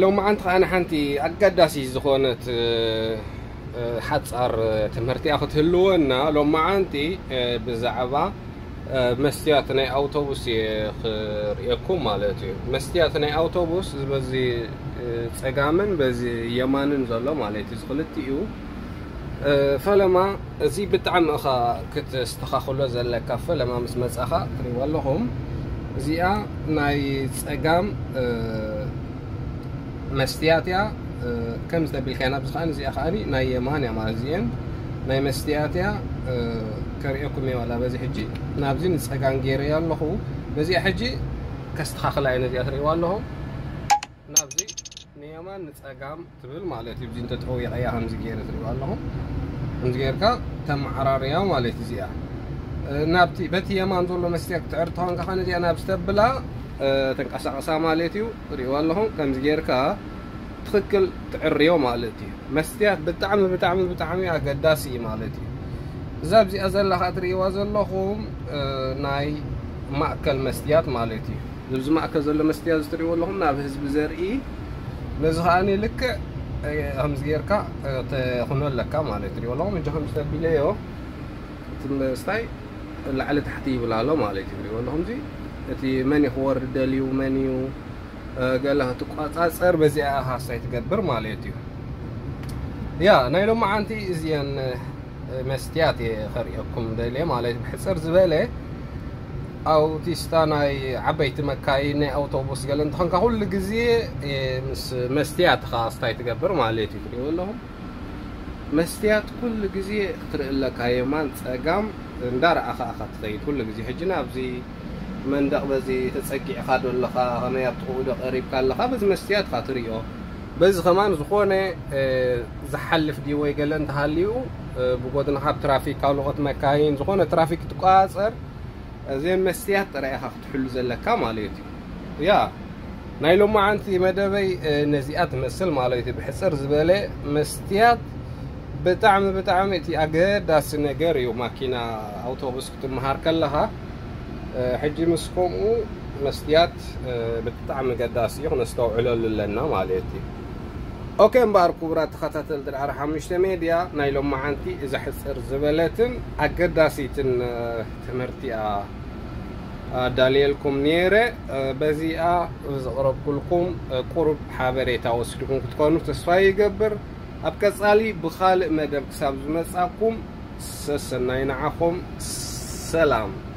ሎማዓንቲ ከኣ ሓንቲ ኣገዳሲ ዝኾነት ሓጻር ትምህርቲያ ክትህልወና። ሎማዓንቲ ብዛዕባ መስትያት ናይ ኣውቶቡስ እየ ክርእየኩም ማለት እዩ። መስትያት ናይ ኣውቶቡስ በዚ ጸጋምን በዚ የማንን ዘሎ ማለት እዩ። ክልቲኡ ፈለማ እዚ ብጣዕሚ እኻ ክትስተኻኽሎ ዘለካ። ፈለማ ምስ መጻኻ ትሪእዋ ኣለኹም። እዚኣ ናይ ጸጋም መስትያት እያ። ከም ዝተቢልካ ናብዚ ከኣ እዚኣ ከኣ ናይ የማን እያ ማለት እዚአን ናይ መስትያት እያ። ከርእየኩም እየ ዋላ በዚ ሕጂ ናብዚ ንጸጋም ገይረ እያ ኣለኹ። በዚኣ ሕጂ ከስተኻኽላ እየ ነዚኣ ትሪእዋ ኣለኹም። ናብዚ ንየማን ንጸጋም ትብል ማለት እዩ። እዚ እንተተወይቐያ ከምዚ ገይረ ትሪእዋ ኣለኹም። ከምዚ ጌርካ ተመዓራርያ ማለት እዚኣ ናብቲ በቲ የማን ዘሎ መስትያት ክትዕር ተኾንካ ከነ እዚኣ ናብ ዝተብላ ተንቀሳቐሳ ማለት እዩ። ትሪእዋ ኣለኹም። ከምዚ ጌርካ ትኽክል ትዕርዮ ማለት እዩ። መስትያት ብጣዕሚ ብጣዕሚ ብጣዕሚ ኣገዳሲ እዩ ማለት እዩ። እዛ ኣብዚኣ ዘላ ከኣ ትሪእዋ ዘለኹም ናይ ማእከል መስትያት ማለት እዩ። እዚ ማእከል ዘሎ መስትያት እዚ ትሪእዎ ኣለኹም ናብ ህዝቢ ዘርኢ። ነዚ ከኣ ልክዕ ከምዚ ጌርካ ተኹኖ ኣለካ ማለት እዩ። ትሪእዎ ኣለኹም እጆ ከምዚ ተቢለዮ እቲ መስታይ ላዕሊ ታሕቲ ይብል ኣሎ ማለት እዩ። ትሪእዎ ኣለኹም እዚ እቲ መን እዩ ክወርድ ደልዩ መን እዩ ገለ ክትቋጻጸር በዚኣ ኢኻ ስታይ ትገብር ማለት እዩ። ያ ናይ ሎማዓንቲ እዚአን መስትያት እየ ከርእየኩም ደልየ ማለት እዩ። ብሕጽር ዝበለ ኣውቲስታ ናይ ዓበይቲ መካይን ናይ ኣውቶቡስ ገለ እንተኾንካ ኩሉ ግዜ ምስ መስትያት ኢኻ ስታይ ትገብር ማለት እዩ። ትሪእዎ ኣለኹም መስትያት ኩሉ ግዜ ክትርኢ ኣለካ የማን ጸጋም እንዳረኣኻ ኢኻ ትኸይድ ኩሉ ግዜ። ሕጂ ናብዚ መንደቕ በዚ ተጸጊዕካ ዶ ኣለኻ ከመይ ኣብቲ ክኡ ዶ ቀሪብካ ኣለኻ በዚ መስትያት ኢኻ ትርእዮ። በዚ ከማን ዝኾነ ዝሓልፍ ድዩ ወይ ገለ እንተሃልዩ ብጎድንኻ ኣብ ትራፊክ ካልኦት መካይን ዝኾነ ትራፊክ ትቋጸር እዘን መስትያት ጥራይ ኢኻ ክትሕሉ ዘለካ ማለት እዩ። ያ ናይ ሎማዓንቲ መደበይ ነዚኣ ትመስል ማለት እዩ። ብሕጽር ዝበለ መስትያት ብጣዕሚ ብጣዕሚ እቲ ኣገዳሲ ነገር እዩ። ማኪና ኣውቶቡስ ክትመሃር ከለኻ ሕጂ ምስ ከምኡ መስትያት ብጣዕሚ ገዳሲ እዩ፣ ክነስተውዕለሉ ኣለና ማለት እዩ። ኦኬ እምበኣር ክቡራት ተኸታተልቲ ዳዕሮ ሓሙሽተ ሜድያ ናይ ሎማዓንቲ እዛ ሕጽር ዝበለትን ኣገዳሲትን ትምህርቲኣ ኣዳልየልኩም ነይረ። በዚኣ ዘቕረብኩልኩም ቁሩብ ሓበሬታ ወሲድኩም ክትኮኑ ተስፋ ይገብር። ኣብ ቀጻሊ ብኻልእ መደብ ክሳብ ዝመጻኩም ሰሰናይ ንዓኹም። ሰላም።